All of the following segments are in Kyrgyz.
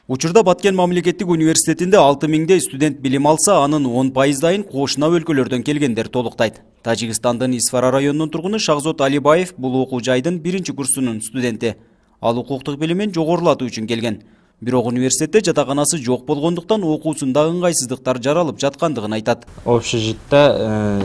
Учурда Баткен мамлекеттик университетинде 6000 студент билим алса, анын 10%-дайын кошуна өлкөлөрдөн келгендер толуктайт. Тажикстандын Исфара районунун тургуну Шахзод Алибаев бул окуу жайдын 1-курсунун студенти. Ал укуктук билимин жогорулатуу үчүн келген. Бирок университетте жатаканасы жок болгондуктан окуусунда ыңгайсыздыктар жаралып жаткандыгын айтат. Общежитте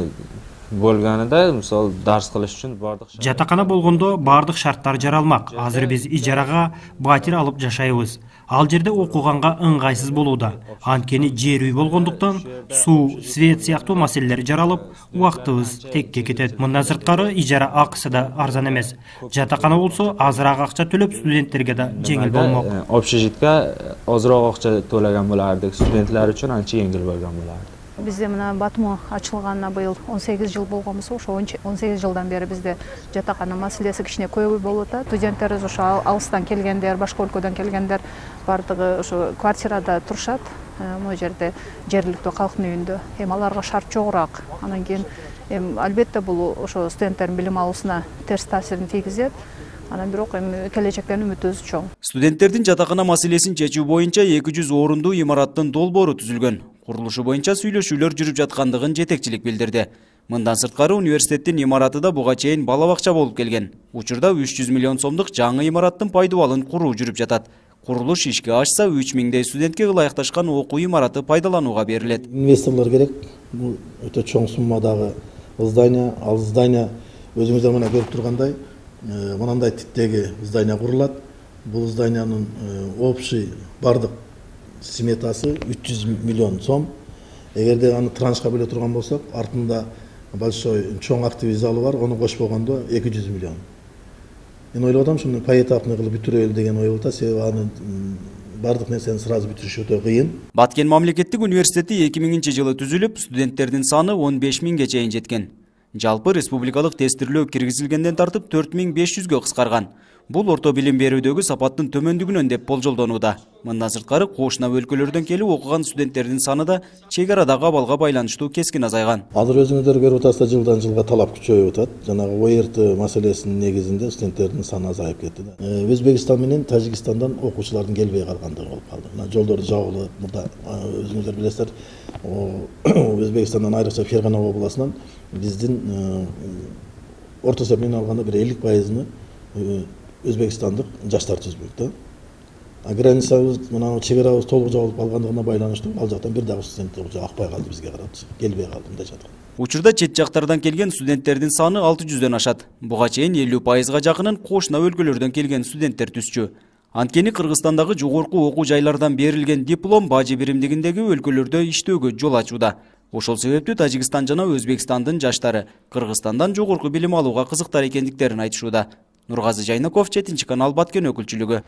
болгонунда, мисалы, дарс кылыш үчүн бардык жатакана болгондо бардык шарттар жаралмак. Азыр биз ижарага батир алып жашайбыз. Ал жерде окуганга ыңгайсыз болууда. Анткени жер үй болгондуктан суу, свет сыяктуу маселелер жаралып, убактыбыз текке кетет. Мындан сырткары ижара акысы да арзан эмес. Жатакана болсо азыраак акча төлөп студенттерге да жеңил болмок. Общежитке азыраак акча төлөгөн болардык, студенттер үчүн анча жеңил болгон боларdı. Bizde мына Батуму ачылганына быйыл 18 жыл болгонбуз. Ошо 18 жылдан бери бизде жатакана маселеси кичине көбү болуп атат. Студенттерибиз ошо алыстан келгендер, башка өлкөдөн келгендер бардыгы ошо квартирада турушат. Могу жерде жергиликтүү калктын үйүндө. Аларга шарт жогураак. Анан кийин албетте бул ошо студенттердин билим алуусуна терс таасирин тийгизет. Анан бирок келечектен үмүтүбүз чоң. Студенттердин жатакана маселесин чечүү боюнча 200 орундуу имараттын долбоору түзүлгөн. Курулушу боюнча сүйлөшүүлөр жүрүп жаткандыгын жетекчилик билдирди. Мындан сырткары университеттин имараты да буга чейин бала бакча болуп келген. Учурда 300 миллион сомдук жаңы имараттын пайдубалын куруу жүрүп жатат. Курулуш ишке ашса 3000 студентке ылайыкташкан окуу имараты пайдаланууга берилет. Инвесторлор керек. Бул өтө чоң суммадагы здание, ал здание өзүңүздөр мына көрүп тургандай мынандай типтеги здание курулат. Бул зданиянын общий бардык сметасы 300 миллион сом. Эгерде аны траншка бөлө турган болсок, артында большой чоң активный залы бар, аны кошпогондо 200 миллион. Мен ойлодум, шуну поэтапный кылып бүтүрөлү деген ой болот, себеби аны бардык нерсени сразу бүтүрүш өтө кыйын. Баткен мамлекеттик университети 2000-жылы түзүлүп, студенттердин саны 15000 чейин жеткен. Жалпы республикалык тестирлөө киргизилгенден тартып 4500-гө кыскарган. Бул орто билим берүүдөгү сапаттын төмөндүгүнөн деп болжолдонууда. Мындан сырткары кошуна өлкөлөрдөн келип окуган студенттердин саны да чек арадагы абалга байланыштуу кескин азайган. Азыр өзүңүздөр көрүп атасыздар, жылдан жылга талап күчөйүп атат. Жанагы ОРТ маселесинин негизинде студенттердин саны азайып кетти. Өзбекстан менен Тажикстандан окуучулардын келбей калгандыгы болуп калды. Мына жолдор жабылып, мурда өзүңүздөр билесиздер, Өзбекстандан айрыкча Фергана областынан биздин орто эсеп менен алганда бир 50%-ны Өзбекстандык жаштар түзбөк да. Границабыз, мына чек арабыз толук жабылып калгандыгына байланыштуу, ал жактан бир дагы студенттер акпай калды бизге карап, келбей калды мындай жаткан. Учурда чет жактардан келген студенттердин саны 600дөн ашат. Буга чейин 50%-га жакынын кошуна өлкөлөрдөн келген студенттер түзчү. Анткени Кыргызстандагы жогорку окуу жайлардан берилген диплом бажы биримдигиндеги өлкөлөрдө иштөөгө жол ачууда. Ошол себептүү Тажикстан жана Өзбекстандын жаштары Кыргызстандан жогорку билим алууга кызыктар экендиктерин айтышууда. Нургазы Жайнаков, 7 канал, Баткен өкүлчүлүгү.